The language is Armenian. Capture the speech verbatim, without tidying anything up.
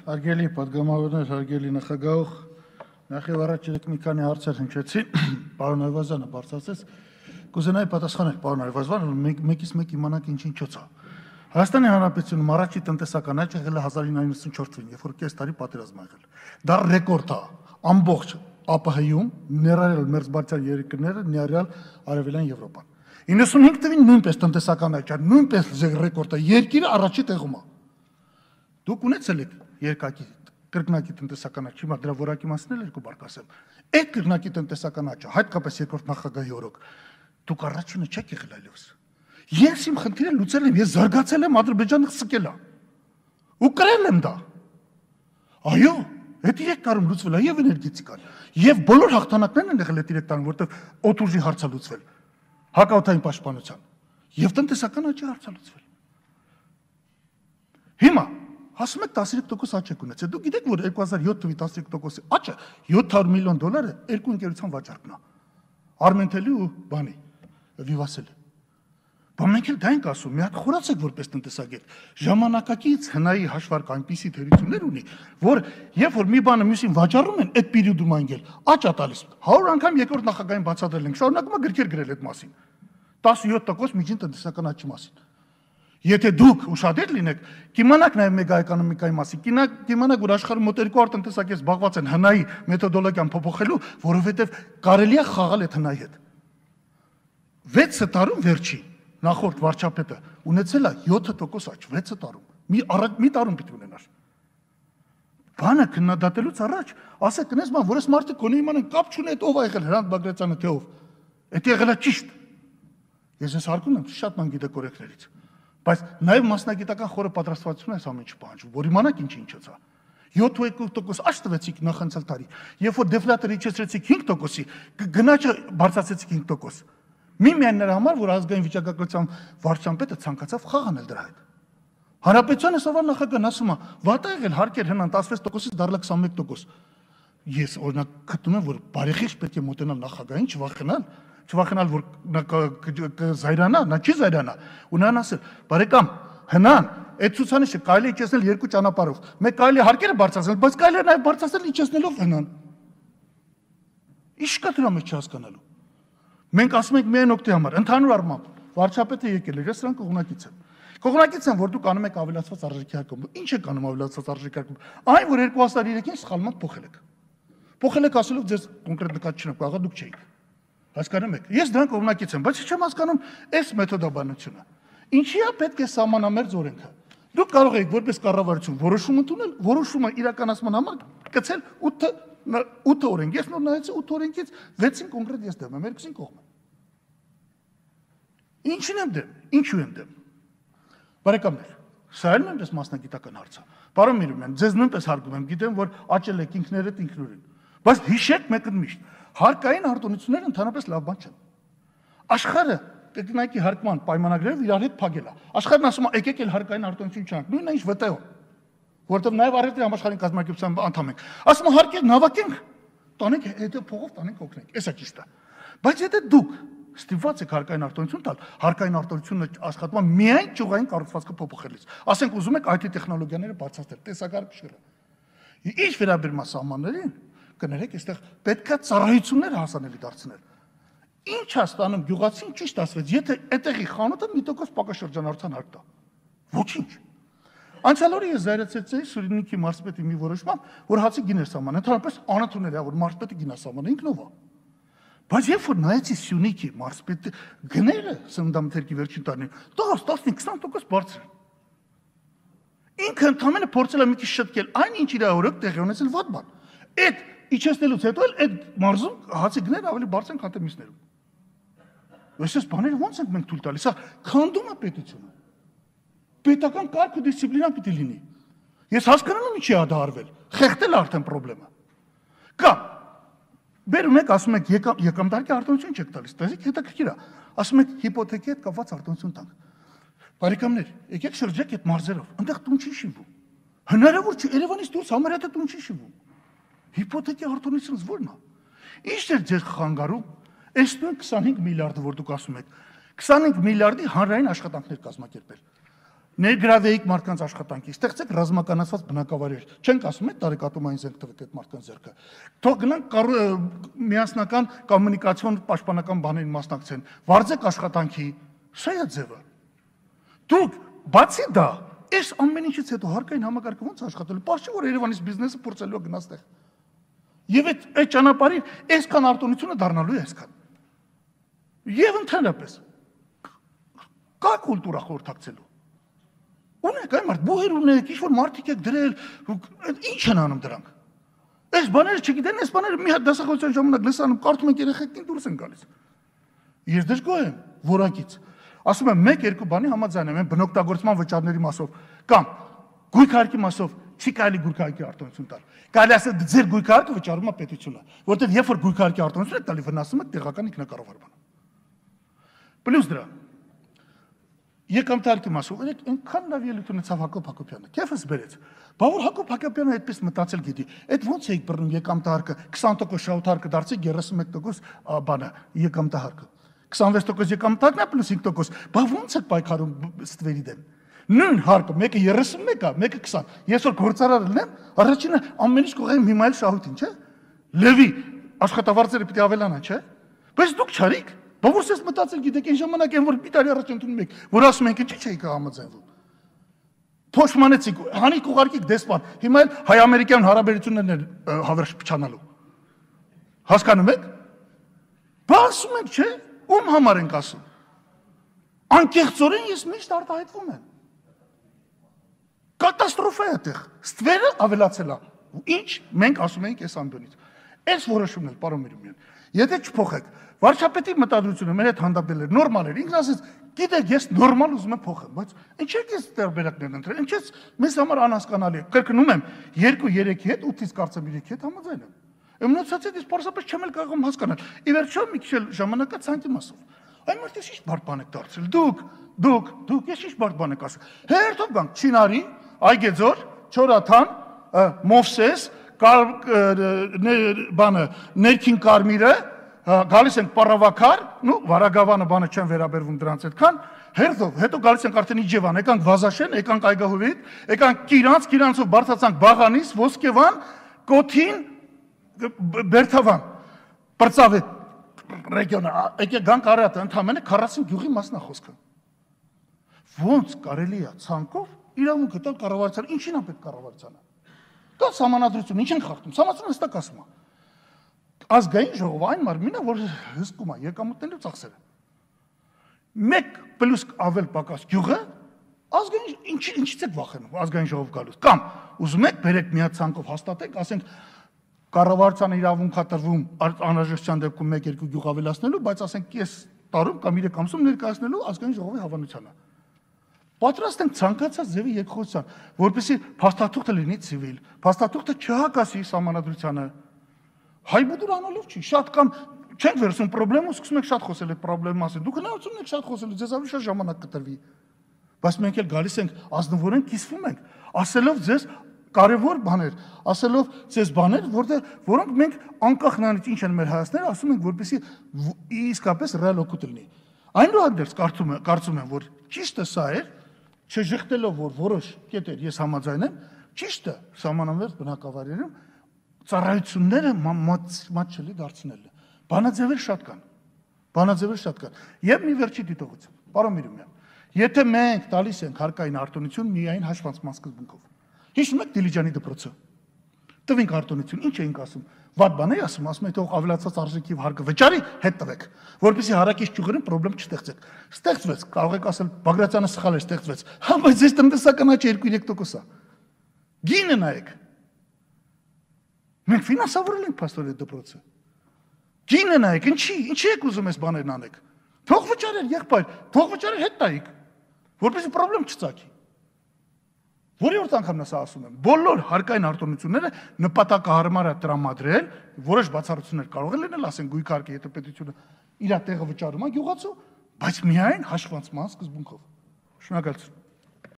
Հարգելի պատգամավորներ, հարգելի նախագահող, նախ եւ առաջ մի քանի հարցեր հնչեցի, պարոն Այվազյանը բարձրացրեց, կուզենայի պատասխանել պարոն Այվազյանը, մեկից մեկ իմանանք ինչ ինչոց է։ Հայաստանի Հանրապետությունում առաջի տնտեսական աճը եղել է հազար ինը հարյուր ութսուն չորս թվականին, երբ որ կես տարի պատերազմ ա եղել։ Դա ռեկորդ է, ամբողջ ԱՊՀ-ում, ներառյալ մերձբալթյան երկրները, ներառյալ Արևելյան Եվրոպան։ իննսունհինգ թվականին նույնպես տնտեսական աճ, նույնպես ռեկորդ է, երկիրը առաջի տեղում է։ Դուք ունեցել եք երկակի կրկնակի տնտեսական աճ, հիմա դրա որակի մասին էլ երկու բառ կասեմ։ Այդ կրկնակի տնտեսական աճը, հատկապես երկրորդ նախագահի օրոք, դուք առաջինը չեք եղել այլևս։ Ես իմ խնդիրը լուծել եմ, ես զարգացել եմ, Ադրբեջանը սկել է։ Ու կրել եմ դա։ Այո, այդ երեք տարում լուծվել է եւ էներգետիկան, եւ բոլոր հաղթանակներն են եղել այդ երեք տարում, որտեղ օդուժի հարցը լուծվել, հակաօդային պաշտպանության, եւ տնտեսական աճի հարցը լուծվել։ Հիմա ասում եք տասնյոթ տոկոս աճ եք ունեցել։ Դուք գիտեք, որ երկու հազար յոթ թվականի տասնյոթ տոկոսի աճը յոթ հարյուր միլիոն դոլար է երկու ընկերության վաճառքն է։ Արմենտելի ու բանի Վիվասել։ Բայց մենք էլ դա ենք ասում, մի հատ խորացեք որպես տնտեսագետ։ Ժամանակակից հնայի հաշվարկ այնպիսի թերություններ ունի, որ երբ որ մի բանը մյուսին վաճառում են, այդ պերիոդում անգել աճ է տալիս։ հարյուր անգամ երկրորդ նախագահին բացատրել ենք, շարունակում է գրքեր գրել այդ մասին։ տասնյոթ տոկոս միջին տնտեսական աճի մասին։ Եթե դուք ուշադիր լինեք, կիմանաք նաև մեգաէկոնոմիկայի մասին, կիմանաք, որ աշխարհում մոտ երկու հարյուր տնտեսագետ զբաղված են հնայի մեթոդոլոգիան փոփոխելու, որովհետև կարելի է խաղալ այդ հնայի հետ։ վեց տարում վերջի նախորդ վարչապետը ունեցել է յոթ տոկոս աճ, վեց տարում։ Մի առաջ մի տարում պիտի ունենար։ Բանը քննադատելուց առաջ ասեք կնես ման, որ այս մարդը կոնե իմանան կապ չունի այդ ով է եղել Հրանտ Բագրատյանը թե ով։ Այդ եղել է ճիշտ։ Ես ես հարգում եմ շատ ման գիտեք օրենքներից։ Բայց նաև մասնագիտական խորը պատրաստվածություն այս ամեն ինչը պահանջում, որ իմանաք ինչ ինչոց է։ յոթ տոկոս աճ տվեցիք նախանցյալ տարի, երբ որ դեֆլատորը իջեցրեցիք հինգ տոկոսի, գնաճը բարձրացրեցիք հինգ տոկոս։ Միմիայն նրա համար, որ ազգային վիճակագրության վարչապետը ցանկացավ խաղ անել դրա հետ։ Հանրապետության այսօրվա նախագահն ասում է, վատ է եղել հարկեր հնան տասնվեց տոկոսից դառնա քսանմեկ տոկոս։ Ես օրինակ գտնում եմ, որ բարեխիղճ պետք է մոտենալ նախագահին, չվախենալ, չվախենալ, որ նա կզայրանա, նա չի զայրանա, ու նրան ասել, բարեկամ, հնան, այդ ցուցանիշը կարելի է իջեցնել երկու ճանապարհով։ Մեկ կարելի է հարկերը բարձրացնել, բայց կարելի է նաև բարձրացնել իջեցնելով հնան։ Ինչ կա դրա մեջ չհասկանալու։ Մենք ասում ենք միայն օգտի համար, ընդհանուր առմամբ, վարչապետը եկել է, ես սրանք կողմնակից եմ։ Կողմնակից եմ, որ դուք անում եք ավելացված արժեքի հարկում։ Ինչ եք անում ավելացված արժեքի հարկում։ Այն, որ երկու հազար երեքին սխալմամբ փոխել եք։ Փոխել եք ասելով ձեզ կոնկրետ նկատ չունեք, աղա դուք չէիք։ Հասկանում եք։ Ես դրանք կողմնակից եմ, բայց չեմ հասկանում այս մեթոդաբանությունը։ Ինչի է պետք է սահմանամերձ օրենքը։ Դուք կարող եք որպես կառավարություն որոշում ընդունել, որոշումը իրականացման համար գցել ութ օրենք։ Ես նոր նայեցի ութ օրենքից վեցին կոնկրետ ես դեմ եմ, երկուսին կողմ եմ։ Ինչին եմ դեմ, ինչու եմ դեմ։ Բարեկամներ, սա էլ նույնպես մասնագիտական հարց է։ Պարոն Միրումյան, ձեզ նույնպես հարգում եմ, գիտեմ, որ աճել եք ինքներդ ինքնուրույն։ Բայց հիշեք մեկը միշտ, հարկային արտոնությունները ընդհանրապես լավ բան չեն։ Աշխարհը կրկնակի հարկման պայմանագրերով իրար հետ փակել է։ Աշխարհն ասում է, եկեք էլ հարկային արտոնություն չանք, նույնն է ինչ ՎՏՕ, որտեղ նաև առևտրի համաշխարհային կազմակերպության անդամ ենք։ Ասում է հարկեր նավակենք, տանենք հետո փողով տանենք օգնենք։ Էսա ճիշտ է։ Բայց եթե դուք ստիպված եք հարկային արտոնություն տալ, հարկային արտոնությունը աշխատում է միայն ճյուղային կառուցվածքը փոփոխելիս։ Ասենք ուզում եք այ թի տեխնոլոգիաները բարձրացնել, տեսակարգ շիռը։ Ինչ վերաբերում է սահմաններին, կներեք, այստեղ պետքա ծառայությունները հասանելի դարձնել։ Ինչ է ստանում գյուղացին ճիշտ ասվեց, եթե այդտեղի խանութը մի տոկոս պակաշրջանառության հարկ տա։ Ոչինչ։ Անցյալ օրը ես զայրացրեցի Սյունիքի մարզպետի մի որոշմամբ, որ հացի գիներ սահմանը, ընդհանրապես անընդունել է, որ մարզպետը գինա սահմանը ինքնով է։ Բայց երբ որ նայեցի Սյունիքի մարզպետի գները սննդամթերքի վերջին տարիներին, տասը, տասնհինգ, քսան տոկոս բարձր։ Ինքը ընդամենը փորձել է մի քիչ շտկել, այն ինչ իր օրոք տեղի ունեցել վատ բան։ Այդ իջեցնելուց հետո էլ այդ մարզում հացի գները ավելի բարձր են, քան թե մյուսներում։ Այսպես բաները ո՞նց ենք մենք թույլ տալիս։ Սա քանդում է պետությունը։ Պետական կարգ ու դիսցիպլինա պիտի լինի։ Ես հասկանում եմ ինչի է դա արվել։ Խեղդել արդեն խնդրեմը։ Կամ բերում եք, ասում եք եկամտարկի արտոնություն չեք տալիս, տեսեք հետաքրքիր է։ Ասում եք հիպոթեքի հետ կապված արտոնություն տանք։ Բարեկամներ, եկեք շրջեք այդ մարզերով, այնտեղ տուն չի շինվում։ Հնարավոր չէ, Երևանից դուրս համարյա տուն չի շինվում։ Հիպոթեքի արտոնությունից ո՞րն է։ Ի՞նչ է ձեր խանգարում։ Այս քսանհինգ միլիարդը, որ դուք ասում եք, քսանհինգ միլիարդի հանրային աշխատանքներ կազմակերպել։ Ներգրավեիք մարդկանց աշխատանքի, ստեղծեք ռազմականացված բնակավայրեր, չենք ասում այդ տարեկատումային զենք տվեք այդ մարդկանց ձեռքը։ Թող գնանք միասնական կոմունիկացիոն պաշտպանական բաներին մասնակցեն, վարձեք աշխատանքի, սա է ձևը։ Դուք բացի դա, այս ամեն ինչից հետո հարկային համակարգը ո՞նց աշխատելու, պարզ չէ որ Երևանից բիզնեսը փորձելու է գնաց տեղ։ Եվ այդ այդ ճանապարհին այսքան արտոնությունը դառնալու է այսքան։ Եվ ընդհանրապես կա կուլտուրա խորհրդակցելու։ Ունեք այն մարդ, բուհեր ունեք, ինչ-որ մարդիկ եք դրել, ինչ են անում դրանք։ Այս բաները չգիտեն, այս բաները մի հատ դասախոսության ժամանակ լսանում, կարդում եք երեխեքին դուրս են գալիս։ Ես դժգոհ եմ որակից։ Ասում եմ մեկ-երկու բանի համաձայն եմ, բնօգտագործման վճարների մասով կամ գույքարկի մասով չի կարելի գույքարկի արտոնություն տալ։ Կարելի ասել ձեր գույքարկը վճարում է պետությունը, որտեղ երբ որ գույքարկի արտոնություն եք տալի, վնասում եք տեղական ինքնակառավարմանը։ Պլյուս դրա եկամտարկի մասով այնքան լավ ելույթ ունեցավ Հակոբ Հակոբյանը, քեֆս բերեց։ Բա որ Հակոբ Հակոբյանը այդպես մտածել գիտի, այդ ո՞նց էիք բռնում եկամտարկը, քսան տոկոս շահութարկը դարձի երեսուն մեկ տոկոս բանը եկամտարկը։ քսանվեց տոկոս եկամտարկն է պլյուս հինգ տոկոս, բա ո՞նց եք պայքարում ստվերի դեմ։ Նույն հարկը, մեկը երեսուն մեկ է, մեկը քսան։ Ես որ գործարար լինեմ, առաջինը ամեն ինչ կողեմ հիմա էլ շահույթին, չէ՞։ Լևի աշխատավարձերը պիտի ավելանան, չէ՞։ Բայց դուք չարիք։ Բա որ ես մտածել գիտեք այն ժամանակ այն որ մի տարի առաջ ընդունում եք, որ ասում ենք ինչի՞ չէիք համաձայնվում։ Փոշմանեցիք, հանիք ուղարկիք դեսպան, հիմա էլ հայ-ամերիկյան հարաբերություններն են հավերժ փչանալու։ Հասկանում եք։ Բա ասում եք, չէ՞, ում համար ենք ասում։ Անկեղծորեն ես միշտ արտահայտվում եմ։ Կատաստրոֆա է այդտեղ։ Ստվերը ավելացել է։ Ինչ մենք ասում ենք այս ամբյոնից։ Այս որոշումն էլ, պարոն Միրումյան, եթե չփոխեք, վարչապետի մտադրությունը մեր հետ հանդիպել էր, նորմալ էր, ինքն ասեց, գիտեք, ես նորմալ ուզում եմ փոխեմ, բայց ինչ եք այս տարբերակներն ընտրել, ինչ է մեզ համար անհասկանալի է։ Կրկնում եմ, երկու-երեքի հետ, ութից կարծեմ երեքի հետ համաձայն եմ։ Իմնոցացիա ես պարզապես չեմ էլ կարողում հասկանալ։ Ի վերջո մի քիչ ժամանակա ցանկի մասով։ Այն մարդը ի՞նչ բարդ բան եք դարձրել։ Դուք, դուք, դուք ես ի՞նչ բարդ բան եք ասում։ Հերթով գանք Չինարի, Այգեձոր, Չորաթան, Մովսես, բանը ներքին Կարմիրը, գալիս ենք Պարավաքար, նու Վարագավանը բանը չեն վերաբերվում դրանց այդքան, հերթով, հետո գալիս ենք արդեն Իջևան, եկանք Վազաշեն, եկանք Այգահովիտ, եկանք Կիրանց, Կիրանցով բարձրացանք Բաղանիս, Ոսկեվան, Կոթին, Բերթավան, Պրծավետ ռեգիոնը, եկեք գանք Արարատը, ընդամենը քառասուն գյուղի մասն է խոսքը։ Ոնց կարելի է ցանկով իրավունքը տալ կառավարությանը, ինչին է պետք կառավարությանը։ Կա սահմանադրություն, ինչ են խախտում, սահմանադրությունը հստակ ասում է։ Ազգային ժողովը այն մարմինը, որ հսկում է եկամուտների ծախսերը։ Մեկ պլյուս ավել պակաս գյուղը ազգային ինչից եք վախենում ազգային ժողով գալուց կամ ուզում եք բերեք միած ցանկով հաստատեք, ասենք կառավարությանը իրավունք է տրվում անհրաժեշտության դեպքում մեկ-երկու գյուղ ավելացնելու, բայց ասենք կես տարում կամ երեք ամսում ներկայացնելու ազգային ժողովի հավանությանը։ Պատրաստ ենք ցանկացած ձևի երկխոսության, որպեսզի փաստաթուղթը լինի ցիվիլ, փաստաթուղթը չհակասի սահմանադրությանը։ Հայբուդուր անալով չի, շատ կամ չենք վերցնում պրոբլեմը, սկսում եք շատ խոսել այդ պրոբլեմի մասին։ Դուք հնարավորություն եք շատ խոսելու, ձեզ ավելի շատ ժամանակ կտրվի։ Բայց մենք էլ գալիս ենք ազնվորեն կիսվում ենք, ասելով ձեզ կարևոր բաներ, ասելով ձեզ բաներ, որտեղ որոնք մենք անկախ նրանից ինչ են մեր հայացքները, ասում ենք, որպեսզի իսկապես ռեալ օգուտ լինի։ Այնուհանդերձ կարծում եմ, կարծում եմ, որ ճիշտը սա էր, չժխտելով որ որոշ կետեր ես համաձայն եմ, ճիշտը սահմանամերձ բնակավայրերում ծառայությունները մատչելի դարձնելը։ Բանաձևեր շատ կան։ Բանաձևեր շատ կան։ Եվ մի վերջի դիտողություն։ Պարոն Միրումյան, եթե մենք տալիս ենք հարկային արտոնություն միայն հաշվանցման սկզբունքով։ Հիշում եք Դիլիջանի դպրոցը։ Տվինք արտոնություն, ինչ էինք ասում։ Վատ բան է ասում, ասում եք թող ավելացած արժեքի հարկը վճարի, հետ տվեք, որպեսզի հարակից ճյուղերին խնդրեմ չստեղծեք։ Ստեղծվեց, կարող եք ասել Բագրատյանը սխալ էր, ստեղծվեց։ Հա, բայց ձեզ տնտեսական աճը երկու-երեք տոկոս է։ Գինը նայեք։ Մենք ֆինանսավորել ենք փաստորեն դպրոցը։ Գինը նայեք, ինչի, ինչի եք ուզում այս բաներն անեք։ Թող վճարեր, եղբայր, թող վճարեր հետ տայիք, որպեսզի խնդրեմ չծագի։ Որի՞որդ անգամն է սա ասում եմ։ Բոլոր հարկային արտոնությունները նպատակահարմար է տրամադրել, որոշ բացառություններ կարող են լինել, ասենք գույքարկը, եթե պետությունը իր տեղը վճարում է գյուղացու, բայց միայն հաշվանցման սկզբունքով։ Շնորհակալություն։